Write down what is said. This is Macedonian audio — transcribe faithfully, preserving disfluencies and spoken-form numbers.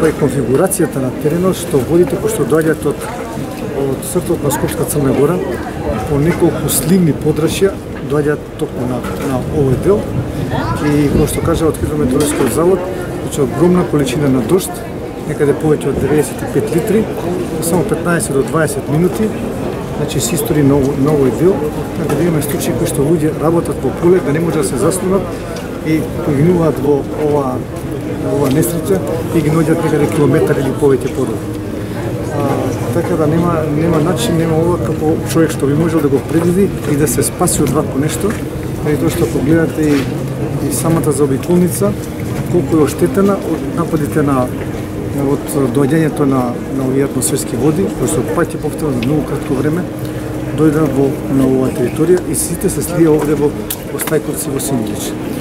каква е конфигурацијата на теренот, што водите кои што доаѓаат од од срцето на Скопска Црна Гора по неколку сливни подрачја доаѓаат токму на на овој дел и како што кажа од Хидрометеоролошкиот завод, значи огромна количина на дожд, некаде повеќе од деветдесет и пет литри, само петнаесет до дваесет минути, значи се истори на овој дел, така да имаме случаи кои што луѓе работат во поле да не може да се заслонат и погинуваат во ова ова несреќа и ги наоѓаат некаде километар или повеќе подолу. Така да нема нема начин, нема ова како човек што би можел да го предвиди и да се спаси од вакво нешто, преди тоа што погледате и, и самата заобиколница колку е оштетена од нападите на од доаѓањето на на овие атмосферски води, кои се паѓаат повторно за многу кратко време, дојдат во на оваа територија и сите се слија овде во во Стајковци во Симејлич.